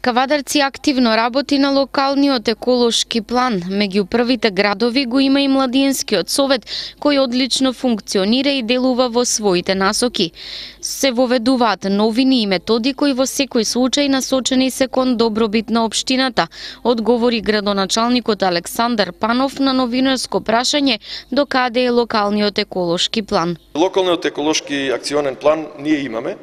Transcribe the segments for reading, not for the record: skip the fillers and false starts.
Кавадарци активно работи на локалниот еколошки план. Меѓу првите градови го има и Младинскиот совет, кој одлично функционира и делува во своите насоки. Се воведуваат новини и методи кои во секој случај насочени се кон добробит на општината, одговори градоначалникот Александар Панов на новинарско прашање до каде е локалниот еколошки план. Локалниот еколошки акционен план ние имаме.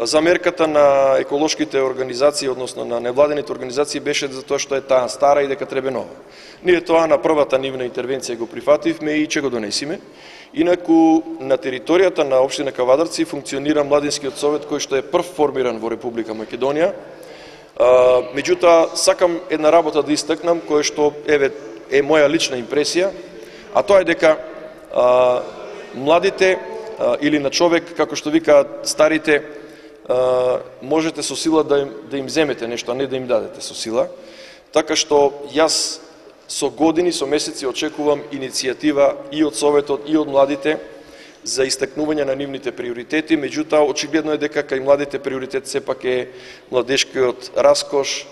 Замерката на еколошките организации, односно на невладените организации, беше за тоа што е таа стара и дека треба нова. Ние тоа на првата нивна интервенција го прифативме и ќе го донесиме. Инаку на територијата на општина Кавадарци функционира Младинскиот совет кој што е прв формиран во Република Македонија. Меѓутоа сакам една работа да истакнам која што е моја лична импресија, а тоа е дека младите или на човек, како што викаат старите, можете со сила да им земете нешто, а не да им дадете со сила. Така што јас со години, со месеци очекувам иницијатива и од Советот и од младите за истакнување на нивните приоритети, меѓутоа очигледно е дека кај младите приоритет сепак е младешкиот раскош,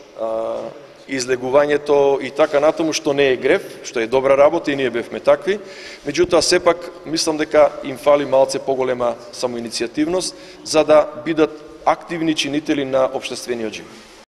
излегувањето и така натаму, што не е грев, што е добра работа и ние бевме такви, меѓутоа сепак мислам дека им фали малце поголема самоиницијативност за да бидат активни чинители на општествениот живот.